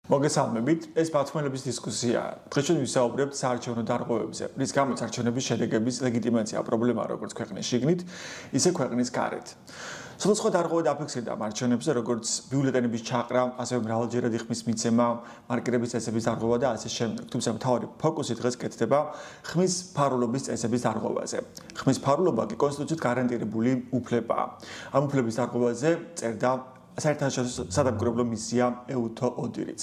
მოგესალმებით, ეს ბათუმელების დისკუსიაა. დღეს ჩვენ ვისაუბრებთ საარჩევნო დარღვევებზე, რის გამოც არჩევნების შედეგების ლეგიტიმაცია პრობლემაა როგორც ქვეყნის შიგნით, ისე ქვეყნის გარეთ. სხვადასხვა დარღვევა დაფიქსირდა ამ არჩევნებზე, როგორც ბიულეტენების ჩაყრა, ასევე მრავალჯერადი ხმის მიცემა, მარკირების წესების დარღვევა და ასე შემდეგ. თუმცა მთავარი ფოკუსი დღეს კეთდება ხმის ფარულობის წესების დარღვევაზე. ხმის ფარულობა კი კონსტიტუციით გარანტირებული უფლებაა. ამ უფლების დარღვევაზე წერდა საერთაშორისო სადამკვირვებლო მისია EUTO-ODIHR-იც.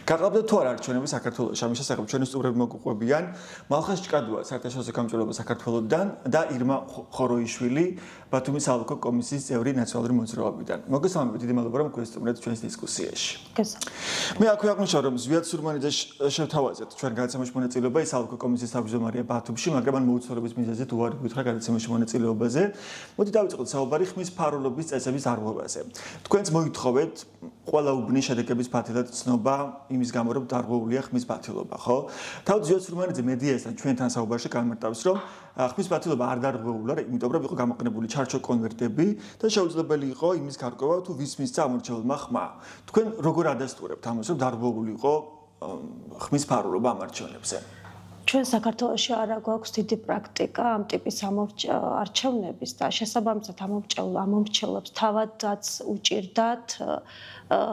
გაყალბდა თუ არა არჩევნები საქართველოში, ამის შესახებ ჩვენი სტუმრები მოგუყვებიან მალხაზ ჭკადუა საერთაშორისო გამჭვირვალობა საქართველოსთან და ირმა ხოროიშვილი ბათუმის ალკო კომისიის წევრი ნაციონალური მოძრაობიდან. მოგესალმებით, დიდი მადლობა რომ გვესტუმრეთ ჩვენს დისკუსიაში. მე აქვე აღნიშნავ რომ ზვიად სურმანიძე შევთავაზეთ ჩვენ გადაცემაში მონაწილეობა ის ალკო კომისიის თავმჯდომარეა ბათუმში, მაგრამ მან მოუწოდების მიზეზით უარი გითხრა გადაცემაში მონაწილეობაზე. მოდი დავიწყოთ საუბარი ხმის ფარულობის წესების დარღვევაზე. თქვენც მოითხოვეთ ყველა უბნის შედეგების ფათილად ცნობა იმის გამო რომ დარღვეულია ხმის ფათილობა, ხო? თავად ზვიად სურმანიძე მედიასთან ჩვენთან საუბარში გამარტავს რომ ხმის ფათილობა არ დარღვეულა, იმიტომ რომ იყო გამოყენებული ჩარჩო კონვერტები და შეუძლებელი იყო იმის გარკვევა თუ ვის მისცა ამორჩეულმა ხმა. თქვენ როგორ ადასტურებთ ამას რომ დარღვეული იყო ხმის ფარულობა ამ არჩევნებზე? ჩვენ საქართველოში არა გვაქვს დიდი პრაქტიკა ამ ტიპის არჩევნების და შესაბამისად ამომრჩევლებს თავადაც უჭირდათ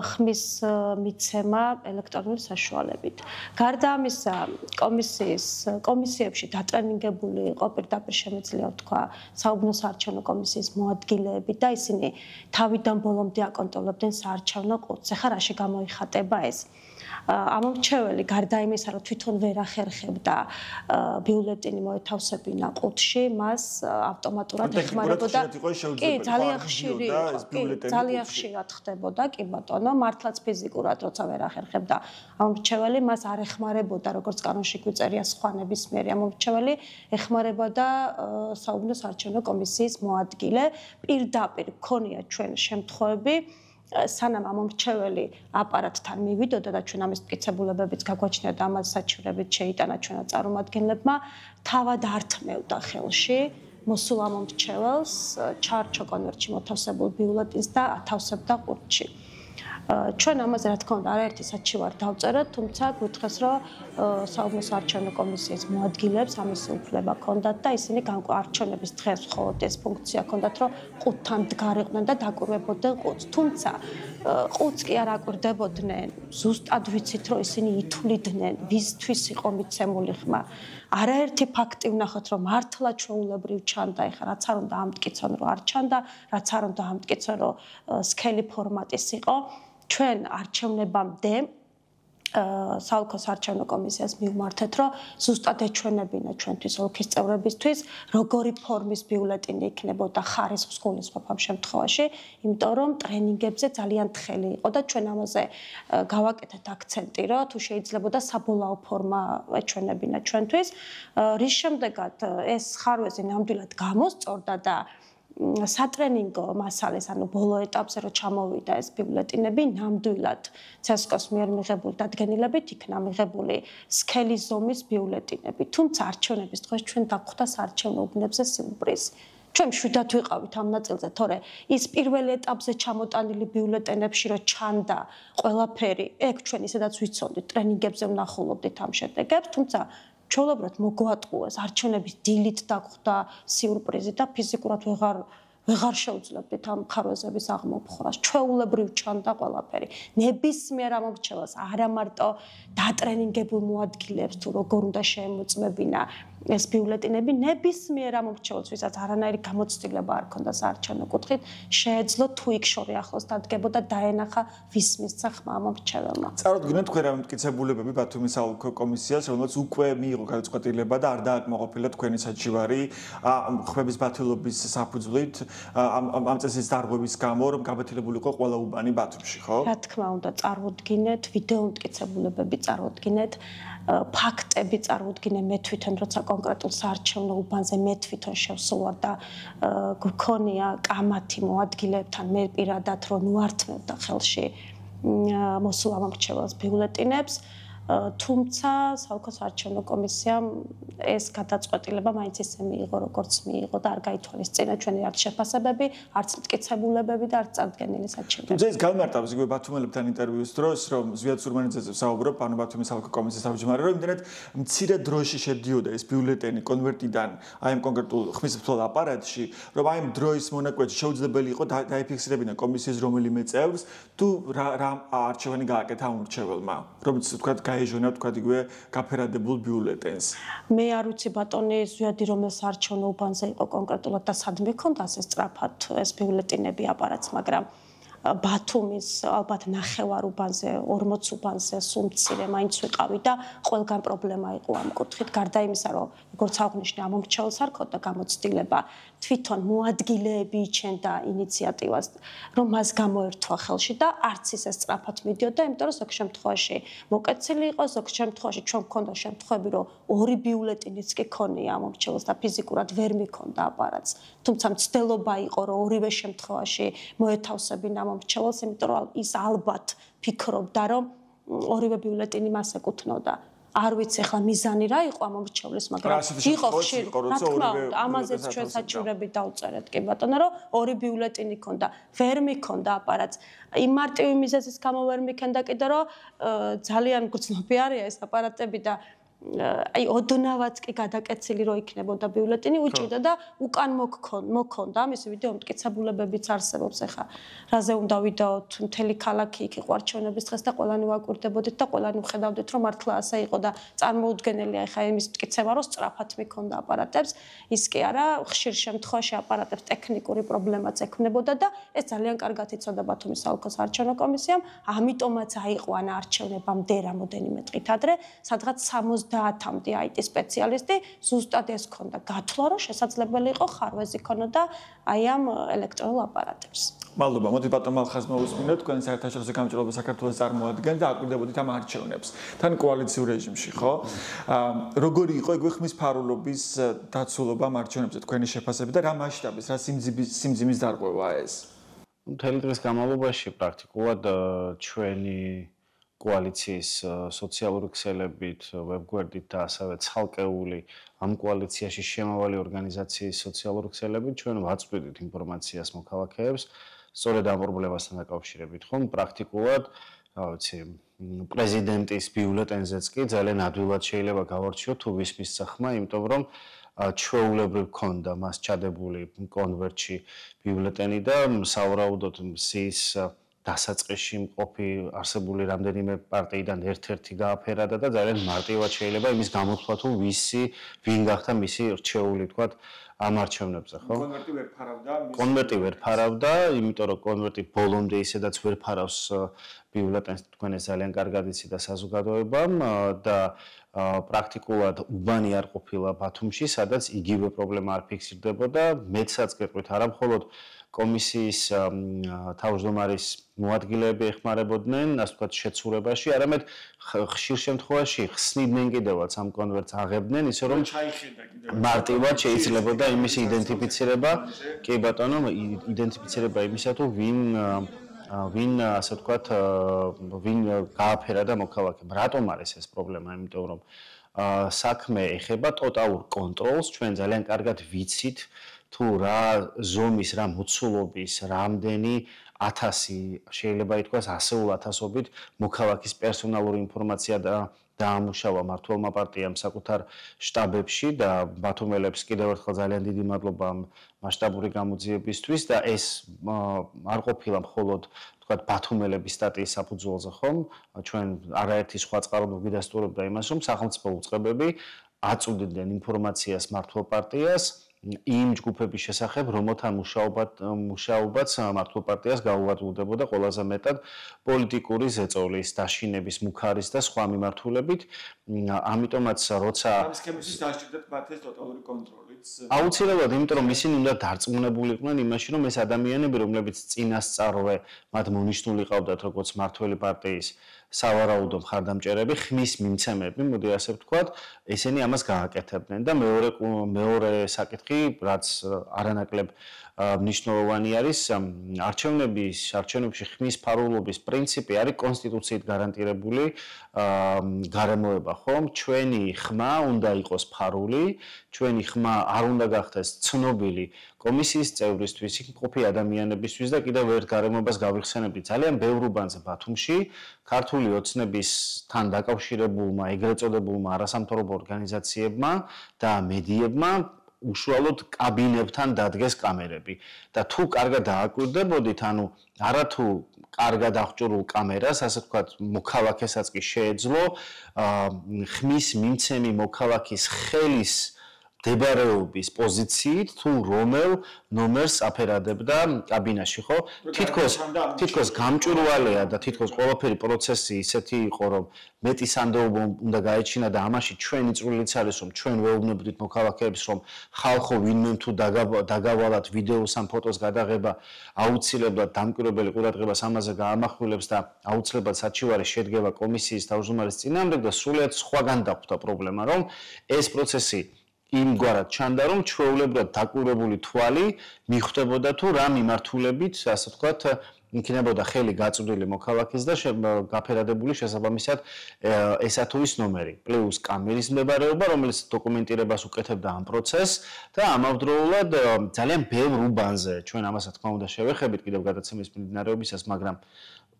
ხმის მიცემა ელექტრონული საშუალებით. გარდა ამისა, კომისიებში დატრენინგებული იყო პირდაპირ შემიძლია ვთქვა საუბნო საარჩევნო კომისიის მოადგილეები და ისინი თავიდან ბოლომდე აკონტროლებდნენ საარჩევნო ყუთს. ეხლა რაში გამოიხატება ეს? ამომრჩეველი გარდა იმისა, რომ თვითონ ვერ ახერხებდა ბიულეტენი მოეთავსებინა ყუთში, მას ავტომატურად ეხმარებოდა. კი, ძალიან ხშირად ხდებოდა, კი ბატონო, მართლაც ფიზიკურად როცა ვერ ახერხებდა ამომრჩეველი, მას არ ეხმარებოდა, როგორც კანონში გვიწერია სხვა ნებისმიერი ამომრჩეველი, ეხმარებოდა საუბნო საარჩევნო კომისიის მოადგილე. პირდაპირ გქონია ჩვენ შემთხვევები სანამ ამომრჩეველი აპარატთან მივიდოდა და ჩვენ ამის მტკიცებულებებიც გაგვაჩნია და ამას საჩივრებით შეიტანა ჩვენმა წარმომადგენლებმა, თავად ართმევდა ხელში მოსულ ამომრჩეველს ჩარჩო კონვერტში მოთავსებულ ბიულეტენს და ათავსებდა ყუთში. ჩვენ ამაზე რა თქმა უნდა არაერთი საჩივარი დავწეროთ, თუმცა გვითხეს რომ საუბნო საარჩევნო კომისიის მოადგილეებს ამის უფლება ჰქონდათ და ისინი არჩევნების დღეს მხოლოდ ეს ფუნქცია ჰქონდათ, რომ ყუთთან დგარიყვნენ და დაკვირვებოდნენ ყუთს. თუმცა ყუთს კი არ აკვირდებოდნენ, ზუსტად ვიცით რომ ისინი ითვლიდნენ ვისთვის იყო მიცემული ხმა. არაერთი ფაქტი ვნახოთ რომ მართლა ჩვეულებრივ ჩანდა, ეხლა რაც არ უნდა ამტკიცონ რომ არ ჩანდა, რაც არ უნდა ამტკიცონ რომ სქელი ფორმატის იყო. ჩვენ არჩევნებამდე საალკო საარჩევნო კომისიას მივმართეთ, რომ ზუსტად ეჩვენებინა ჩვენთვის ოლქის წევრებისთვის, როგორი ფორმის ბიულეტენი იქნებოდა ხარისხს გულისხმობ ამ შემთხვევაში, იმიტომ რომ ტრენინგებზე ძალიან თხელი იყო და ჩვენ ამაზე გავაკეთეთ აქცენტი, რომ თუ შეიძლებოდა საბოლოო ფორმა ეჩვენებინა ჩვენთვის, რის შემდეგაც ეს ხარვეზი ნამდვილად გამოსწორდა და სატრენინგო მასალეს, ანუ ბოლო ეტაპზე რო ჩამოვიდა ეს ბიულეტენები, ნამდვილად ცესკოს მიერ მიღებული დადგენილებით იქნა მიღებული სქელი ზომის ბიულეტენები. თუმცა არჩევნების დღეს ჩვენ დაგხვდა საარჩევნო უბნებზე სიურპრიზი. ჩვენ მშვიდად ვიყავით ამ ნაწილზე, თორე ის პირველ ეტაპზე ჩამოტანილი ბიულეტენებში რო ჩანდა ყველაფერი, ეგ ჩვენ ისედაც ვიცოდით, ტრენინგებზე ვნახულობდით ამ შედეგებს, თუმცა ჩვეულებრივად მოგვატყუეს არჩევნების დილით დაგხვდა სიურპრიზი და ფიზიკურად ვეღარ შევძლებდით ამ ხარვეზების აღმოფხვრას. ჩვეულებრივ ჩანდა ყველაფერი. ნებისმიერ ამომრჩეველს, არა მარტო დატრენინგებულ მოადგილეებს თუ როგორ უნდა შეემოწმებინა ეს ბიულეტენები, ნებისმიერ ამომრჩეველს, ვისაც არანაირი გამოცდილება არ ქონდა საარჩევნო კუთხით, შეეძლო თუ იქ შორი ახლოს დადგებოდა დაენახა ვის მისცა ხმა ამომრჩეველმა. წარუდგინეთ თქვენ ამ მტკიცებულებები ბათუმის საალკო კომისიას, რომელსაც უკვე მიიღო გადაწყვეტილება და არ დააკმაყოფილა თქვენი საჩივარი ხმების ბათილობის საფუძვლით ამ წესის დარღვევის გამო, რომ გაბათილებული იყო ყველა უბანი ბათუმში, ხო? რა თქმა უნდა, წარუდგინეთ, ვიდეო მტკიცებულებები წარუდგინეთ, ფაქტები წარუდგინე მე თვითონ, როცა კონკრეტულ საარჩევნო უბანზე მე თვითონ შევსულვარ და გქონია კამათი მოადგილეებთან მე პირადად რომ უართმევდა ხელში მოსულ ამორჩეველს ბიულეტენებს. თუმცა საოლქო საარჩევნო კომისიამ ეს გადაწყვეტილება მაინც ისე მიიღო, როგორც მიიღო და არ გაითვალისწინა ჩვენი არც შეფასებები, არც მტკიცებულებები და არც წარდგენილი საჩივრები. თუმცა ეს გამარტავს იგივე ბათუმელებთან ინტერვიუს დროს, რომ ზვიად სურმანიძეზე ვსაუბრობ, ანუ ბათუმის საოლქო კომისიის თავმჯდომარე, რომ იმდენად მცირე დროში შედიოდა ეს ბიულეტენი კონვერტიდან აი ამ კონკრეტულ ხმისმცემელ აპარატში, რომ აი ამ დროის მონაკვეთში შეუძლებელი იყო დაიფიქსირებინა კომისიის რომელიმე წევრს თუ რა არჩევანი გააკეთა ამ მრჩეველმა, რომელიც თქვა გაეჟონა თქვა იგივე გაფერადებულ ბიულეტენს. მე არ ვიცი ბატონი ზვიადი რომელ საარჩევნო უბანზე იყო კონკრეტულად და სადმე ქონდა ასე სწრაფად ეს ბიულეტენები აპარატს, მაგრამ ბათუმის ალბათ ნახევარ უბანზე 40 უბანზე სულ მცირე მაინც ვიყავი და ყველგან პრობლემა იყო ამ კუთხით გარდა იმისა რომ როგორც აღნიშნე ამ მომრჩეველს არ ქონდა გამოცდილება თვითონ მოადგილეები იჩენდა ინიციატივას რომ მას გამოერთვა ხელში და არც ისე სწრაფად მიდიოდა იმიტომ რომ ზოგ შემთხვევაში მოკეცილი იყო ზოგ შემთხვევაში ჩვენ მქონდა შემთხვევები რომ ორი ბიულეტინიც კი ქონია ამ მომრჩეველს და ფიზიკურად ვერ მიქონდა აპარატს თუმცა მცდელობა იყო რომ ორივე შემთხვევაში მოეთავსებინა მომრჩეველს, იმიტომ რომ ის ალბათ ფიქრობდა, რომ ორივე ბიულეტენი მას ეკუთვნოდა. არ ვიცი ახლა მიზანი რა იყო ამ მომრჩევლის, მაგრამ იყო ხშირი, რა თქმა უნდა, ამაზეც ჩვენ საჩივრები დავწერეთ კი ბატონო, რომ ორი ბიულეტენი ქონდა, ვერ მიქონდა აპარატს. იმ მარტივი მიზეზის გამო ვერ მიქონდა კიდე რომ ძალიან გრძნობი არის ეს აპარატები და აი ოდნავად კი გადაკეცილი რო იქნებოდა ბიულეტენი უჭირდა და უკან მოქონდა ამის ვიდეო მტკიცებულებებიც არსებობს ახლა რაზე უნდა ვიდაოთ მთელი ქალაქი იქ იყო არჩევნების დღეს და ყველანი ვაკვირდებოდით და ყველანი ვხედავდით რომ მართლა ასე იყო და წარმოუდგენელია ახლა იმის მტკიცება რომ სწრაფად მიქონდა აპარატებს ის კი არა ხშირ შემთხვევაში აპარატებს ტექნიკური პრობლემაც ექმნებოდა და ეს ძალიან კარგად იცოდა ბათუმის საოლქო საარჩევნო კომისიამ ამიტომაც აიყვანა არჩევნებამდე რამოდენიმე დღით ადრე სადღაც 70-მდე IT სპეციალისტი ზუსტად ეს ქონდა გათვლა რომ შესაძლებელი იყო ხარვეზი ქონოდა აი ამ ელექტრონულ აპარატებს. მადლობა. მოდით ბატონ მალხაზ მოვუსმინოთ თქვენ საერთაშორისო გამჭირვალობა საქართველოს წარმოადგენთ და აკვირდებოდით ამ არჩევნებს. თან კოალიციურ რეჟიმში, ხო? როგორი იყო იგივე ხმისფარულობის დაცულობა ამ არჩევნებზე თქვენი შეფასებით და რა მასშტაბის, რა სიმძიმის დარღვევაა ეს? მთელი დღის განმავლობაში პრაქტიკულად ჩვენი კოალიციის სოციალური ქსელებით, ვებგვერდით და ასევე ცალკეული ამ კოალიციაში შემავალი ორგანიზაციის სოციალური ქსელებით ჩვენ ვაწვდით ინფორმაციას მოქალაქეებს სწორედ ამ პრობლემასთან დაკავშირებით, ხომ პრაქტიკულად, რა ვიცი, პრეზიდენტის ბიულეტენზეც კი ძალიან ადვილად შეიძლება გავარჩიოთ თუ ვისმის სახმა, იმიტომ რომ ჩვეულებრივ ქონდა მას ჩადებული კონვერტში ბიულეტენი და სავარაუდოდ მზის დასაწყისში მყოფი არსებული რამდენიმე პარტიიდან ერთ-ერთი გააფერადა და ძალიან მარტივად შეიძლება იმის გამოთვლა თუ ვინ გახდა მისი რჩეული თქვათ ამ არჩევნებზე, ხო? კონვერტი ვერ ფარავდა, იმიტომ რომ კონვერტი ბოლომდე ისედაც ვერ ფარავს ბიულეტენს თქვენ ეს ძალიან კარგად იცით და საზოგადოებამ და პრაქტიკულად უბანი არ ყოფილა ბათუმში, სადაც იგივე პრობლემა არ ფიქსირდებოდა, მეცაც გეტყვით არა მხოლოდ კომისიის თავმჯდომარის მოადგილეები ეხმარებოდნენ, ასე ვთქვათ, შეცურებაში, არამედ ხშირ შემთხვევაში ხსნიდნენ კიდევაც ამ კონვერტს აღებდნენ, ისე რომ მარტივად შეიძლებოდა იმის იდენტიფიცირება, კი ბატონო, იდენტიფიცირება იმისა თუ ვინ ასე ვთქვათ, ვინ გააფერადა მოქალაქემ. რატომ არის ეს პრობლემა? იმიტომ რომ საქმე ეხება ტოტალურ კონტროლს, ჩვენ ძალიან კარგად ვიცით თუ რა ზომის, რა მოცულობის, რამდენი 1000 შეიძლება ითქვას ასეულ ათასობით მოქალაქის პერსონალური ინფორმაცია დაამუშავა მმართველმა პარტიამ საკუთარ შტაბებში და ბათუმელებს კიდევ ერთხელ ძალიან დიდი მადლობა ამ მასშტაბური გამოძიებისთვის და ეს არ ყოფილა მხოლოდ თქვათ ბათუმელების სტატიის საფუძველზე ხომ ჩვენ არაერთი სხვა წყარო გვიდასტურებდა იმას რომ სახელმწიფო უწყებები აწვდიდნენ ინფორმაციას მმართველ პარტიას იმ ჯგუფების შესახებ, რომელთა მუშაობაც მმართველ პარტიას გაუვადმდებოდა ყველაზე მეტად პოლიტიკური ზეწოლის, დაშინების, მუქარის და სხვა მიმართულებით. ამიტომაც როცა ამ სქემისთვის დასჭირდათ მათ ეს ტოტალური კონტროლიც. აუცილებლად, იმიტომ რომ ისინი უნდა დარწმუნებული იყვნენ იმაში, რომ ეს ადამიანები, რომლებიც წინასწარვე მათ მონიშნული ყავდათ როგორც მმართველი პარტიის სავარაუდო მხარდამჭერები, ხმის მიმცემები, მოდი ასე ვთქვათ, ესენი ამას გააკეთებდნენ და მეორე საკითხი, რაც არანაკლებ მნიშვნელოვანი არის, არჩევნებში ხმის ფარულობის პრინციპი არის კონსტიტუციით გარანტირებული გარემოება, ხომ? ჩვენი ხმა უნდა იყოს ფარული, ჩვენი ხმა არ უნდა გახდეს ცნობილი კომისიის წევრისთვის, იქ მყოფი ადამიანებისთვის და კიდევ ერთ გარემოებას გავიხსენებდი. ძალიან ბევრ უბანზე ბათუმში ქართული ოცნებისთან დაკავშირებულმა, ეგრეთ წოდებულმა არასამთავრობო ორგანიზაციებმა და მედიებმა უშუალოდ კაბინებთან დადგეს კამერები და თუ კარგად დააკვირდებოდით, ანუ არათუ კარგად აღჭურვილ კამერას, ასე ვთქვათ, მოქალაქესაც კი შეეძლო ხმის მიმცემი მოქალაქის ხელის დებარეობის პოზიციით თუ რომელ ნომერს აფერადებდა კაბინაში, ხო? თითქოს გამჭვირვალეა და თითქოს ყველაფერი პროცესი ისეთი იყო, რომ მეტი სანდოობა უნდა გაეჩინა და ამაში ჩვენი წვლილიც არის, რომ ჩვენ ვეუბნებდით მოქალაქეებს, რომ ხალხო ვინმე თუ დაგავალათ ვიდეოს ან ფოტოს გადაღება აუცილებლად დამკვირვებელი ყურადღებას ამაზე გაამახვილებს და აუცილებლად საჩივარი შედგება კომისიის თავმჯდომარის წინააღმდეგ და სრულიად სხვაგან დახვდა პრობლემა, რომ ეს პროცესი იმგვარად ჩანდა, რომ ჩვეულებრივად დაკვირვებული თვალი მიხვდებოდა თუ რა მიმართულებით, ასე ვთქვათ, იქნებოდა ხელი გაწვდილი მოქალაქეს და გაფერადებული შესაბამისად ესა თუ ის ნომერი, პლუს კამერის მდებარეობა, რომელიც დოკუმენტირებას უკეთებდა ამ პროცესს და ამავდროულად ძალიან ბევრ უბანზე, ჩვენ ამას რა თქმა უნდა შევეხებით კიდევ გადაცემის მიმდინარეობისას, მაგრამ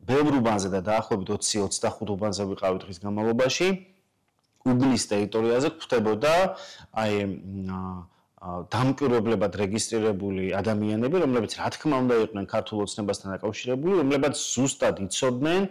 ბევრ უბანზე და დაახლოებით 20-25 უბანზე ვიყავით დღის განმავლობაში. უბნის ტერიტორიაზე გვხვდებოდა დამკვირვებლებად რეგისტრირებული ადამიანები, რომლებიც რა თქმა უნდა იყვნენ ქართულ ოცნებასთან დაკავშირებული, რომლებიც ზუსტად იცოდნენ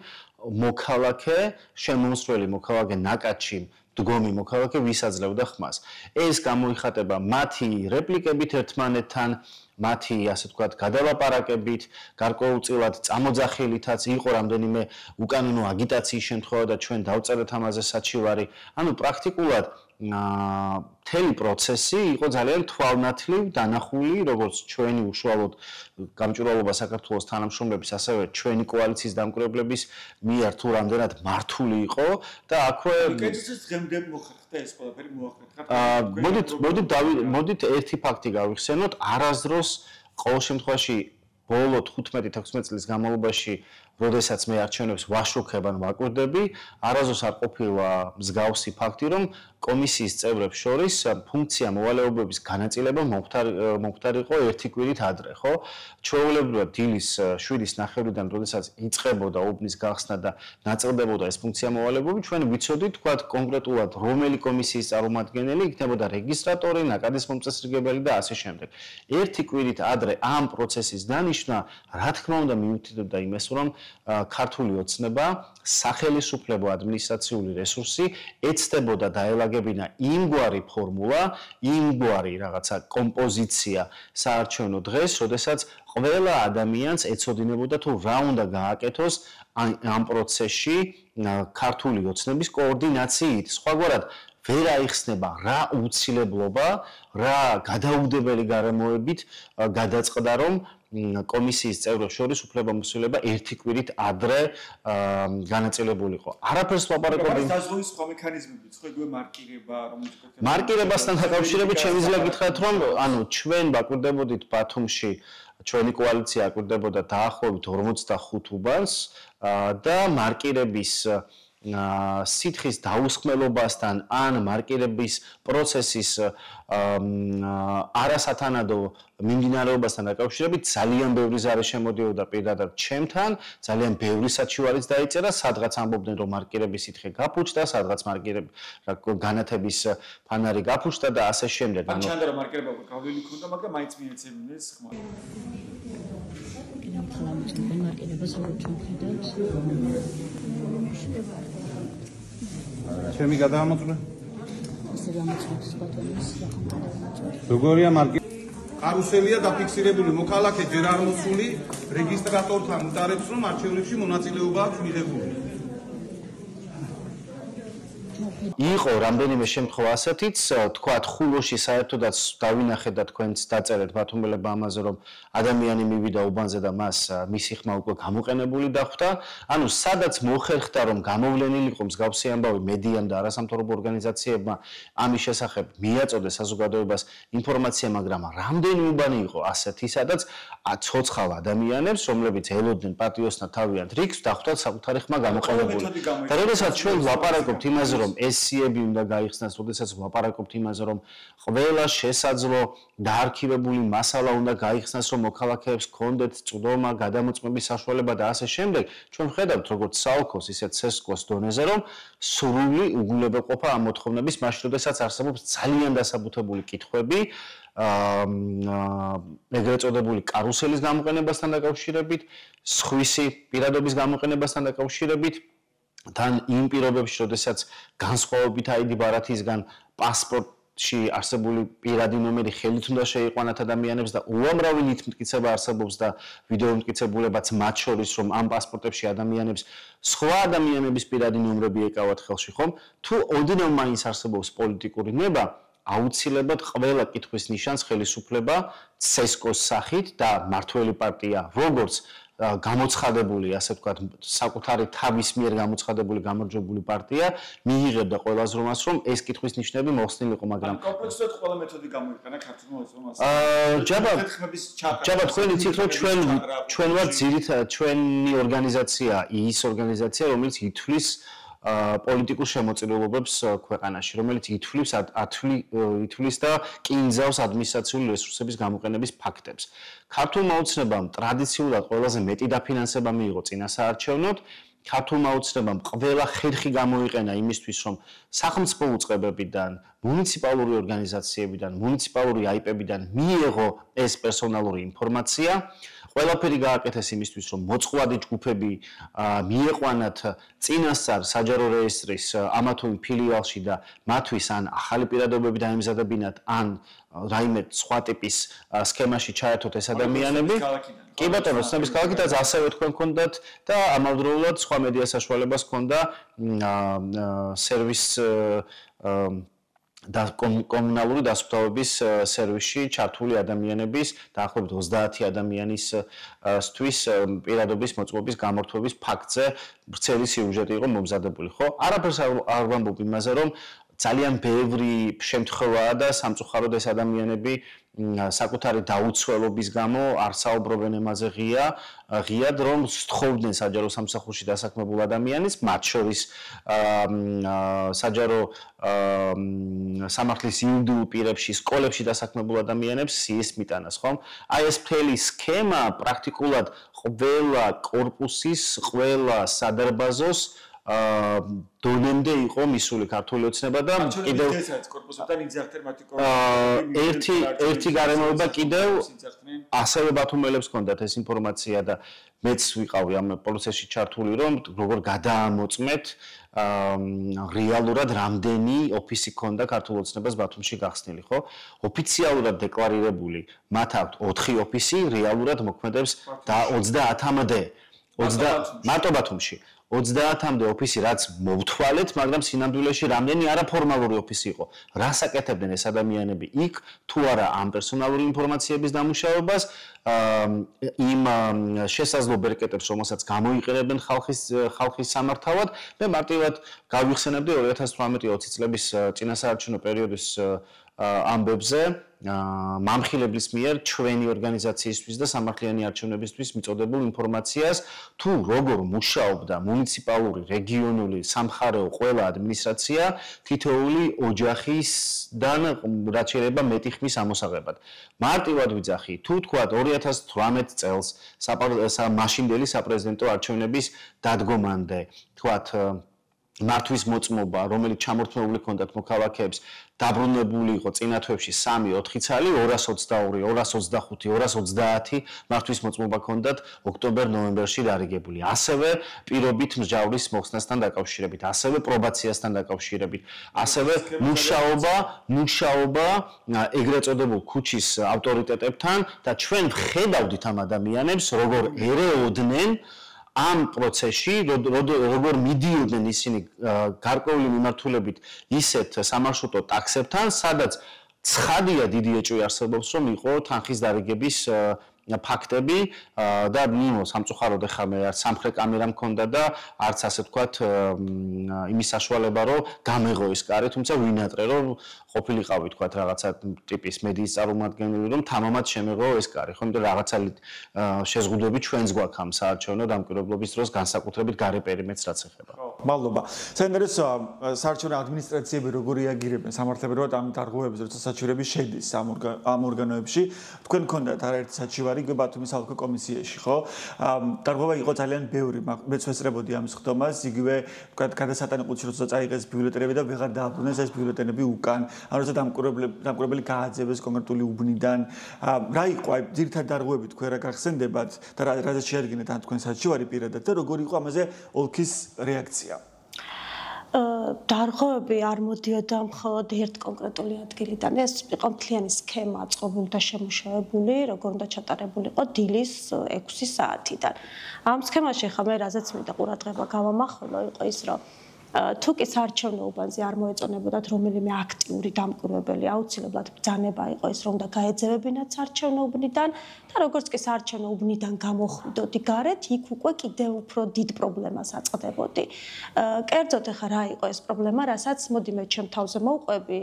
მოქალაქე, შემომსვლელი მოქალაქე, ნაკადში მდგომი მოქალაქე ვის აძლევდა ხმას. ეს გამოიხატება მათი რეპლიკებით ერთმანეთთან, მათი, ასე ვთქვათ, გადალაპარაკებით, გარკვეულწილად წამოძახილითაც იყო რამდენიმე უკანონო აგიტაციის შემთხვევა და ჩვენ დავწერეთ ამაზე საჩივარი. ანუ პრაქტიკულად მთელი პროცესი იყო ძალიან თვალნათლივ დანახული, როგორც ჩვენი უშუალოდ გამჭვირვალობა საქართველოს თანამშრომლების, ასევე ჩვენი კოალიციის დამკვირვებლების მიერ თუ რამდენად მართული იყო და აქვე კეთილს დღემდე მოხერხდა ეს ყველაფერი მოახერხა. მოდით ერთი ფაქტი გავიხსენოთ, არასდროს ყოველ შემთხვევაში ბოლო 15-16 წლის განმავლობაში როდესაც მე არჩევნებს ვაშუქებ ან ვაკვირდები, არასდროს არ ყოფილა მსგავსი ფაქტი, რომ კომისიის წევრებს შორის ფუნქცია მოვალეობების განაწილება მომხდარიყო ერთი კვირით ადრე, ხო? ჩვეულებრივად დილის 7:30-დან, როდესაც იწყებოდა უბნის გახსნა და ნაწილდებოდა ეს ფუნქცია მოვალეობები, ჩვენ ვიცოდით, თქვათ, კონკრეტულად რომელი კომისიის წარმომადგენელი იქნებოდა რეგისტრატორი, ნაკადის მომწესრიგებელი და ასე შემდეგ. ერთი კვირით ადრე ამ პროცესის დანიშვნა, რა თქმა უნდა, მიუთითებდა იმას, რომ ქართული ოცნება, სახელისუფლებო ადმინისტრაციული რესურსი ეცდებოდა დაელაგებინა იმგვარი ფორმულა, იმგვარი რაღაცა კომპოზიცია საარჩევნო დღეს, როდესაც ყველა ადამიანს ეცოდინებოდა თუ რა უნდა გააკეთოს ამ პროცესში ქართული ოცნების კოორდინაციით. სხვაგვარად ვერ აიხსნება რა უცილებლობა, რა გადაუდებელი გარემოებით გადაწყდა, რომ კომისიის წევრებს შორის უფლებამოსილება ერთი კვირით ადრე განაწილებულიყო. არაფერს ვაპარაკობდი. დაზღვევის სხვა მექანიზმებიც, ხო, იგივე მარკირება, რომელიც მარკირებასთან დაკავშირებით შემიძლია გითხრათ, რომ ანუ ჩვენ ვაკვირდებოდით ბათუმში, ჩვენი კოალიცია აკვირდებოდა დაახლოებით 45 უბანს და მარკირების სითხის დაუსხმელობასთან ან მარკირების პროცესის არასათანადო მიმდინარეობასთან დაკავშირებით ძალიან ბევრი ზარი შემოდიოდა პირადად ჩემთან, ძალიან ბევრი საჩივარიც დაიწერა, სადღაც ამბობდნენ, რომ მარკირების სითხე გაფუჭდა, სადღაც მარკირების განათების ფანარი გაფუჭდა და ასე შემდეგ. ან ჩანდა რომ მარკირება გავლილი ქონდა, მაგრამ მაინც მიეცემდნენ ხმა. მარკირებას როგორ ჩამოხედავთ? ჩემი გადაამოწმე. ასე გამოწმეს ბატონის როგორია მარკი? კარუსელია დაფიქსირებული მოქალაქე ჯერ არ მოსული რეგისტრატორთან უტარებს რომ არჩევნებში მონაწილეობა აქვს მიღებული. იყო რამდენიმე შემთხვევა ასეთიც, თქვათ ხულოში საერთოდაც დავინახეთ და თქვენც დაწერეთ ბათუმელებმა ამაზე, რომ ადამიანი მივიდა უბანზე და მას მისი ხმა უკვე გამოყენებული დახვდა. ანუ სადაც მოხერხდა, რომ გამოვლენილი იყო მსგავსი ამბავი მედიამ და არასამთავრობო ორგანიზაციებმა ამის შესახებ მიაწოდეს საზოგადოებას ინფორმაცია, მაგრამ რამდენი უბანი იყო ასეთი, სადაც ცოცხალ ადამიანებს, რომლებიც ელოდნენ პატიოსნად თავიანთ რიგს, დახვდათ საკუთარი ხმა გამოყენებული. და როდესაც ჩვენ ვლაპარაკობთ იმაზე, რომ ეს სიები უნდა გაიხსნას, როდესაც ვლაპარაკობთ იმაზე, რომ ყველა შესაძლო დაარქივებული მასალა უნდა გაიხსნას, რომ მოქალაქეებს ჰქონდეთ წვდომა, გადამოწმების საშუალება და ასე შემდეგ, ჩვენ ვხედავთ როგორც საოლქოს, ისეთ ცესკოს დონეზე, რომ სრული უგულებელყოფა ამ მოთხოვნების მაშინ, როდესაც არსებობს ძალიან დასაბუთებული კითხვები, ეგრეთ წოდებული კარუსელის გამოყენებასთან დაკავშირებით, სხვისი პირადობის გამოყენებასთან დაკავშირებით, თან იმ პირობებში, როდესაც განსხვავებით ID ბარათისგან პასპორტში არსებული პირადი ნომერი ხელით უნდა შეიყვანათ ადამიანებს და უამრავი ნითმტკიცება არსებობს და ვიდეო მტკიცებულებაც მათ შორის, რომ ამ პასპორტებში ადამიანებს სხვა ადამიანების პირადი ნომრები ეკავათ ხელში, ხომ? თუ ოდნავ მაინც არსებობს პოლიტიკური ნება, აუცილებლად ყველა კითხვის ნიშანს ხელისუფლება ცესკოს სახით და მართველი პარტია, როგორც გამოცხადებული, ასე ვთქვათ, საკუთარი თავის მიერ გამოცხადებული გამარჯვებული პარტია მიიღებდა ყველას რომას, რომ ეს კითხვის ნიშნები მოხსნილიყო, მაგრამ კომპლექსურად ყველა მეთოდი გამოიყენა ქართულმა აზროვნებას. ჯაბა თქვენ იცით, რომ ჩვენ ვართ ძირითადად ჩვენი ორგანიზაცია, ის ორგანიზაცია, რომელიც ითვლის პოლიტიკურ შემოწირულობებს ქვეყანაში, რომელიც ითვლის და კინძავს ადმინისტრაციული რესურსების გამოყენების ფაქტებს. ქართულმა ოცნებამ ტრადიციულად ყველაზე მეტი დაფინანსება მიიღო წინასაარჩევნოდ. ქართულმა ოცნებამ ყველა ხერხი გამოიყენა იმისთვის, რომ სახელმწიფო უწყებებიდან, მუნიციპალური ორგანიზაციებიდან, მუნიციპალური აიპებიდან მიიღო ეს პერსონალური ინფორმაცია. ყველაფერი გააკეთეს იმისთვის, რომ მოწყვლადი ჯგუფები მieყვანათ წინასწარ საჯარო რეესტრის ამა თუ იმ ფილიალში და მათთვის ან ახალი პირადობები დაემზადებინათ, ან რაიმე სხვა ტიპის სქემაში ჩაერთოთ ეს ადამიანები. კი ბატონო, ოცნების ქალაქითაც ასევე თქვენ გქონდათ და ამავდროულად სხვა მედია საშუალებას ჰქონდა სერვის და კომუნალური დასუფთავების სერვისში ჩართული ადამიანების დაახლოებით 30 ადამიანისთვის პირადობის მოწყობის გამორთვების ფაქტზე ვრცელი სიუჟეტი იყო მომზადებული, ხო? არაფერს არ ვამბობ იმაზე, რომ ძალიან ბევრი შემთხვევაა და სამწუხაროდ ეს ადამიანები საკუთარი დაუცველობის გამო არ საუბრობენ ემაზე ღიად, რომ სთხოვდნენ საჯარო სამსახურში დასაქმებულ ადამიანის, მათ შორის საჯარო სამართლის იურიდიულ პირებში, სკოლებში დასაქმებულ ადამიანებს სიის მიტანას, ხომ? აი ეს მთელი სქემა პრაქტიკულად ყველა კორპუსის, ყველა სადარბაზოს დონემდე იყო მისული ქართული ოცნება და კიდევ კორპუსებთან იძახდნენ მათი ერთი გარემოება კიდევ ასევე ბათუმელებს ჰქონდათ ეს ინფორმაცია და მეც ვიყავი ამ პროცესში ჩართული, რომ როგორ გადაამოწმეთ რეალურად რამდენი ოფისი ჰქონდა ქართულ ოცნებას ბათუმში გახსნილი, ხო? ოფიციალურად დეკლარირებული მათ აქვთ 4 ოფისი, რეალურად მოქმედებს და 30-მდე. მარტო ბათუმში 30-მდე ოფისი რაც მოვთვალეთ, მაგრამ სინამდვილეში რამდენი არაფორმალური ოფისი იყო. რას აკეთებდნენ ეს ადამიანები იქ, თუ არა ამ პერსონალური ინფორმაციების დამუშავებას, იმ შესაძლო ბერკეტებს, რომელსაც გამოიყენებენ ხალხის სამართავად, მე მარტივად გავიხსენებდი 2018-20 წლების წინასაარჩევნო პერიოდის ამბებზე მამხილებლის მიერ ჩვენი ორგანიზაციისთვის და სამართლიანი არჩევნებისთვის მიწოდებულ ინფორმაციას, თუ როგორ მუშაობდა მუნიციპალური, რეგიონული, სამხარეო ყველა ადმინისტრაცია თითოეული ოჯახისგან რაც შეიძლება მეტი ხმის ამოსაღებად. მარტივად ვიძახი, თუ თქვა 2018 წელს მაშინდელი საპრეზიდენტო არჩევნების დადგომამდე, თქვა მართვის მოწმობა, რომელიც ჩამორთმეული ჰქონდათ მოქალაქეებს, დაბრუნებული იყო წინა თვეებში 3-4 ცალი, 222, 225, 230 მართვის მოწმობა ჰქონდათ ოქტომბერ-ნოემბერში დარიგებული. ასევე პირობით მსჯავრის მოხსნასთან დაკავშირებით, ასევე პრობაციასთან დაკავშირებით, ასევე მუშაობა ეგრეთ წოდებულ ქუჩის ავტორიტეტებთან და ჩვენ ვხედავდით ამ ადამიანებს, როგორ ერეოდნენ ამ პროცესში როგორ მიდიოდნენ ისინი გარკვეული მიმართულებით ისეთ სამარშრუტო ტაქსებთან, სადაც ცხადია დიდი ეჭვი არსებობს, რომ იყო თანხის დარიგების ფაქტები და სამწუხაროდ ახლა მე არც სამხრეთ კამერა მქონდა და არც ასე ვთქვათ იმის საშუალება რომ გამეღო ის კარი, თუმცა ვინატრე რომ ყოფილიყავი ვთქვათ რაღაცა ტიპის მედიის წარმომადგენელი რომ თამამად შემეღო ეს კარი, ხო, იმიტომ რაღაცა შეზღუდვები ჩვენს გვაქვს ამ საარჩევნო დამკვირვებლობის დროს განსაკუთრებით გარე პერიმეტრს რაც ეხება. მადლობა. საინტერესო საარჩევნო ადმინისტრაციები როგორ რეაგირებენ სამართლებრივად ამ დარღვევებზე, როცა საჩივრები შედის ამ ორგანოებში. თქვენ გქონდათ არაერთი საჩივარი ბათუმის ალკო კომისიაში, ხო? დარღვევა იყო ძალიან ბევრი, მეც ვესწრებოდი ამის ხდომას, იგივე ვთქვათ გადასატანი ყუთში როცა წაიღეს ბიულეტენები და ვეღარ დააბრუნეს ეს ბიულეტენები უკან. ან როცა დამკვირვებელი გააძევეს კონკრეტული უბნიდან. რა იყო აი ძირითადად დარღვევები თქვენ რა გახსენდებათ და რაზეც შეადგინეთ ან თქვენ საჩივარი პირადად და როგორი იყო ამაზე ოლქის რეაქცია? დარღვევები არ მოდიოდა მხოლოდ ერთ კონკრეტული ადგილიდან. ეს იყო მთლიანი სქემა აწყობილი და შემუშავებული, როგორ უნდა ჩატარებულიყო დილის 6 საათიდან. ამ სქემაში ხა მე რაზეც მინდა ყურადღება გავამახვილო, იყო ის, რომ თუ კი საარჩევნო უბანზე არ მოეწონებოდათ რომელიმე აქტიური დამკვირვებელი, აუცილებლად ბრძანება იყო ის, რომ უნდა გაეძევებინათ საარჩევნო უბნიდან და როგორც კი საარჩევნო უბნიდან გამოხვიდოდი გარეთ, იქ უკვე კიდევ უფრო დიდ პრობლემას აწყდებოდი. კერძოდ ახლა რა იყო ეს პრობლემა, რასაც მოდი მე ჩემ თავზე მოვყვები.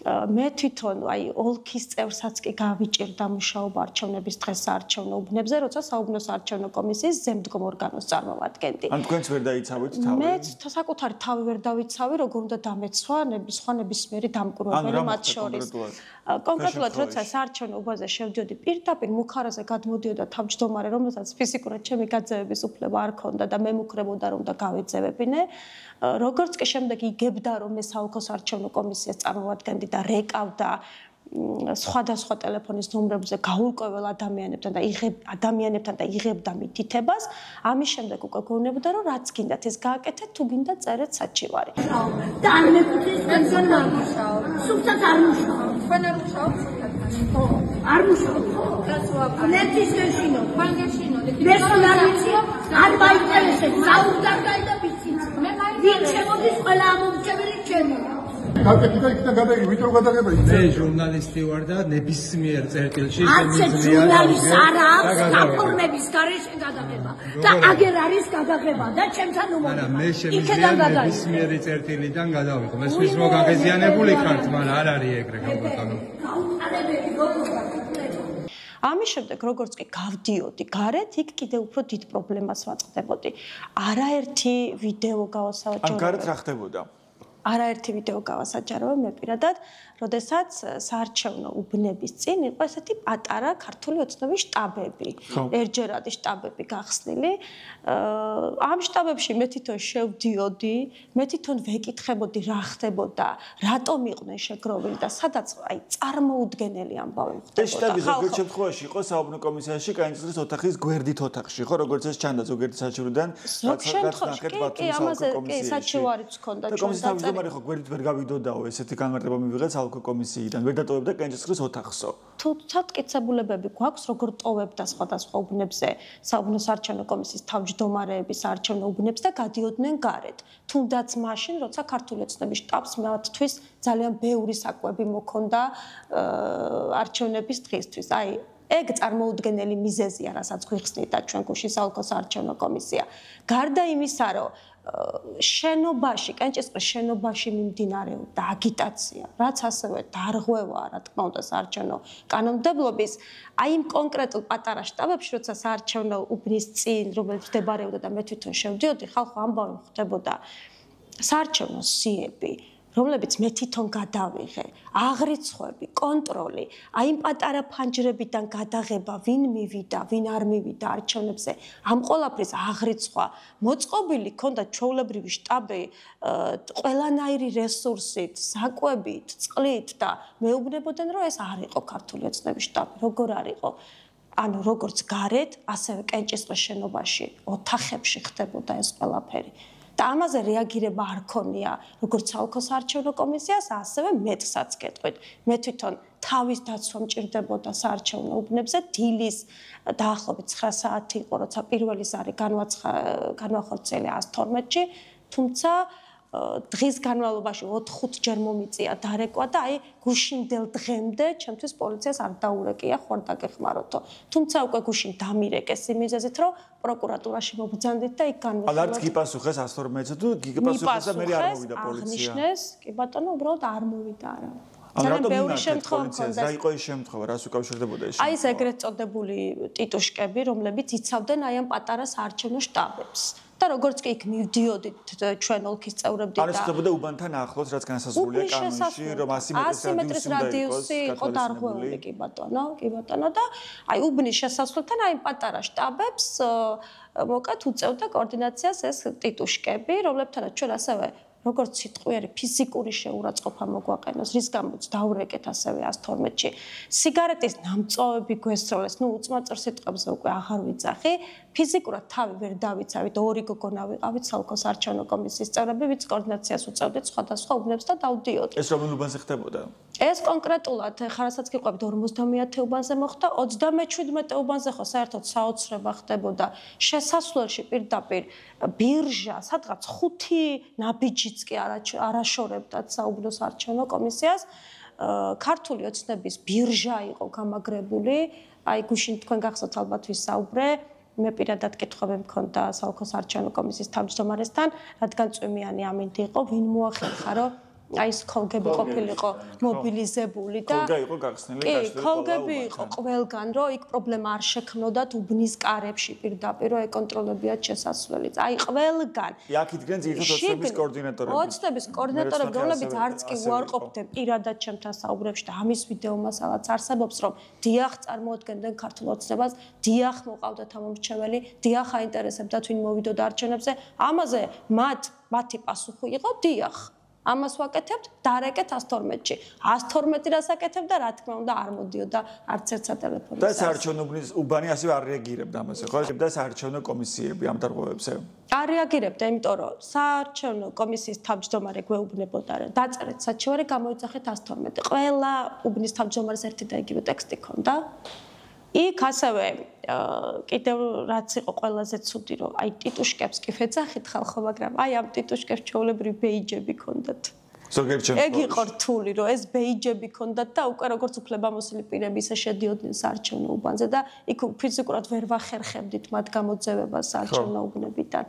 მე თვითონ აი ოლქის წევრსაც კი გავიჭირდა მუშაობა არჩევნების დღეს საარჩევნო უბნებზე, როცა საუბნო საარჩევნო კომისიის ზემდგომ ორგანოს წარმოვადგენდი. ან თქვენც ვერ დაიცავით თავი? მე საკუთარი თავი ვერ დავიცავი, როგორ უნდა დამეცვა სხვა ნებისმიერი დამკვირვებელი მათ შორის. კონკრეტულად როცა საარჩევნო უბანზე შევდიოდი, პირდაპირ მუხარაზე გადმოდიოდა თავმჯდომარე, რომელსაც ფიზიკურად ჩემი გაძევების უფლება არ ქონდა და მე მუქრებოდა რომ და გავეძევებინე. როგორც კი შემდეგ იგებდა რომ მე საოლქო საარჩევნო კომისიას წარმოვადგენდი და რეკავდა სხვადასხვა ტელეფონის ნომრებზე გაურკვეველ ადამიანებთან და იღებდა მითითებას, ამის შემდეგ უკვე გეუბნებოდა რომ რაც გინდათ ეს გააკეთეთ, თუ გინდა წერეთ საჩივარი. და არ მეკუთვნის თქვენ არ მუშაობ. სულთად არ მუშაობ. თქვენ არ მუშაობ სულთად. არ მუშაობ. ნეთის გეშინო. თქვენ გეშინო. მე არ ვიცი, არ მაინტერესებს. საუბარდაი და ვიცი. მე ვინ შემოდის ყველა ამომრჩეველი ჩემია. მე ჟურნალისტი ვარ და ნებისმიერ წერტილში შემიძლია ჟურნალისტ არ აქვს გაფორმების გარეშე გადაღება და აგერ არის გადაღება და ჩემთან უმოდი. მე შემიძლია ნებისმიერი წერტილიდან გადავიღო. მე სულ რო გაღეზიანებული ხართ, მაგრამ არ არის ეგრე გამბატონო. ამის შემდეგ როგორც კი გავდიოდი გარეთ, იქ კიდევ უფრო დიდ პრობლემას ვაწყდებოდი. არაერთი ვიდეო გავასაჯაროვე. ან გარეთ რა ხდებოდა? არაერთი ვიდეო გავასაჯაროვე მე პირადად, როდესაც საარჩევნო უბნების წინ იყო ესეთი პატარა ქართული ოცნების შტაბები, ერთჯერადი შტაბები გახსნილი. ამ შტაბებში მე თვითონ შევდიოდი, მე თვითონ ვეკითხებოდი რა ხდებოდა, რატომ იყვნენ შეგროვილი და სადაც აი წარმოუდგენელი ამბავი ხდებოდა. ეს შტაბი ზოგიერთ შემთხვევაში იყო საუბნო კომისიაში კანონიზაციის ოთახის გვერდით ოთახში, ხო, როგორც ეს ჩანდა ზოგიერთი საჩივრიდან, ზოგ შემთხვევაში კი ამაზე კი საჩივარიც ჰქონდა ჩვენ მაგრამ ხო გვერდით ვერ გავიდოდაო ესეთი განმარტება მივიღეთ ალკო კომისიიდან ვერ დატოვებდა კენჭისყრის ოთახსო. თუმცა მტკიცებულებები გვაქვს როგორ ტოვებდა სხვადასხვა უბნებზე საუბნო საარჩევნო კომისიის თავმჯდომარეები საარჩევნო უბნებს და გადიოდნენ გარეთ. თუნდაც მაშინ როცა ქართული ოცნების შტაბს მათთვის ძალიან ბევრი საკვები მოქონდა არჩევნების დღისთვის. აი ეგ წარმოუდგენელი მიზეზია, რასაც გვიხსნიდა ჩვენ გუშინ საოლქო საარჩევნო კომისია. გარდა იმისა, რომ შენობაში, კენჭისყრის შენობაში მიმდინარეობდა აგიტაცია, რაც ასევე დარღვევაა, რა თქმა უნდა, საარჩევნო კანონმდებლობის, აი იმ კონკრეტულ პატარა შტაბებში, როცა საარჩევნო უბნის წინ, რომელიც მდებარეობდა და მე თვითონ შევდიოდი, ხალხო ამბავი ხდებოდა საარჩევნო სიები, რომლებიც მე თვითონ გადავიღე, აღრიცხვები, კონტროლი, აი იმ პატარა ფანჯრებიდან გადაღება, ვინ მივიდა, ვინ არ მივიდა არჩევნებზე, ამ ყველაფრის აღრიცხვა, მოწყობილი ქონდა ჩვეულებრივი შტაბი, ყველანაირი რესურსით, საკვებით, წყლით და მეუბნებოდნენ, რომ ეს არ იყო ქართული ოცნების შტაბი, როგორ არ იყო. ანუ როგორც გარეთ, ასევე კენჭისყრის შენობაში, ოთახებში ხდებოდა ეს ყველაფერი. და ამაზე რეაგირება არ ქონია როგორც საოლქო საარჩევნო კომისიას, ასევე მეტსაც გეტყვით. მე თვითონ თავის დაცვა მჭირდებოდა საარჩევნო უბნებზე. დილის დაახლოებით 9 საათი იყო, როცა პირველი ზარი განვახორციელე 112-ში, თუმცა დღის განმავლობაში 4-5 ჯერ მომიწია დარეკვა და აი გუშინდელ დღემდე ჩემთვის პოლიციას არ დაურეკია ხوارდაგეხმაროთო. თუმცა უკვე გუშინ დამირეკეს იმ მიზეზით, რომ პროკურატურაში მობრძანდით და იქ განვიხილოთ. არც გიპასუხეს 112-ზე თუ გიპასუხეს და მე არ მოვიდა პოლიცია. აღნიშნეს, კი ბატონო, უბრალოდ არ მოვიდა არა. ძალიან ბევრი შემთხვევა მქონდა. რა იყო ის შემთხვევა, რას უკავშირდებოდა ეს? აი ეს ეგრეთ წოდებული ტიტუშკები, რომლებიც იცავდნენ აი ამ პატარა საარჩევნო შტაბებს. და როგორც კი იქ მივდიოდით ჩვენ ოლქის წევრები და არის ხდებოდა უბანთან ახლოს, რაც განსაზღვრულია კანონში, რომ 100 მეტრის რადიუსი იყო დარღვეული, კი ბატონო, და აი უბნის შესასვლელთან აი პატარა შტაბებს მოკეთ უწევდა კოორდინაციას ეს ტიტუშკები, რომლებთანაც ჩვენ ასევე როგორც სიტყვიერი ფიზიკური შეურაცხყოფა მოგვაყენოს, რის გამოც დაურეკეთ ასევე 112-ში. სიგარეტის ნამწვავები გვესროლეს, უწმაწერ სიტყვებზე უკვე აღარ ვიძახი. ფიზიკურად თავი ვერ დავიცავით, ორი გოგონა ვიყავით საოლქო საარჩევნო კომისიის წევრები, ვინც კოორდინაციას უწევდით სხვადასხვა უბნებს და დავდიოდით. ეს რომელ უბანზე ხდებოდა? ეს კონკრეტულად ხარასაც გიყვებით 50-ე უბანზე მოხდა, 37 უბანზე ხო საერთოდ საოცრება ხდებოდა. შესასვლელში პირდაპირ ბირჟა, სადღაც 5 ნაბიჯიც კი არაშორებდათ საუბნო საარჩევნო კომისიას. ქართული ოცნების ბირჟა იყო გამაგრებული. აი გუშინ თქვენ გახსოვთ ალბათ ვისაუბრე. მე პირადად კითხვები მქონდა საოლქო საარჩევნო კომისიის თავმჯდომარესთან, რადგან წვიმიანი ამინდი იყო, ვინ მოახერხა, რომ აი ეს ქოლგები ყოფილიყო მობილიზებული და ქოლგა იყო გახსნილი კაშტი. კი, ქოლგები იყო ყველგან, რომ იქ პრობლემა არ შექმნოდათ უბნის კარებში პირდაპირ, რომ ეკონტროლებიათ შესასვლელიც. აი ყველგან. აქ იდგნენ ძირითადად ოცნების კოორდინატორები. ოცნების კოორდინატორები, რომლებიც არც კი უარყოფდნენ პირადად ჩემთან საუბრებში და ამის ვიდეო მასალაც არსებობს, რომ დიახ წარმოადგენდნენ ქართულ ოცნებას, დიახ მოყავდათ ამომრჩეველი, დიახ აინტერესებდათ ვინ მოვიდოდა არჩევნებზე. ამაზე მათი პასუხი იყო დიახ. ამას ვაკეთებთ, დარეკეთ 112-ში. 112 რას აკეთებდა, რა თქმა უნდა, არ მოდიოდა არც ერთ სატელეფონო. და საარჩევნო უბანი ასევე არ რეაგირებდა ამაზე, ხო? და საარჩევნო კომისიები ამ დარღვევებზე. არ რეაგირებდა, იმიტომ რომ საარჩევნო კომისიის თავმჯდომარე გვეუბნებოდა, რომ დაწერეთ საჩივარი, გამოიძახეთ 112. ყველა უბნის თავმჯდომარეს ერთი და იგივე ტექსტი ჰქონდა. იქ ასევე კიდევ რაც იყო ყველაზე ცუდი, რომ აი ტიტუშკებს კი ვეძახით ხალხო, მაგრამ აი ამ ტიტუშკებს ჩვეულებრივი ბეიჯები ჰქონდათ. ზოგიერთ შემთხვევაში. ეგ იყო რთული, რომ ეს ბეიჯები ჰქონდათ და უკვე როგორც უფლებამოსილი პირები ისე შედიოდნენ საარჩევნო უბანზე და იქ ფიზიკურად ვერ ვახერხებდით მათ გამოძევებას საარჩევნო უბნებიდან.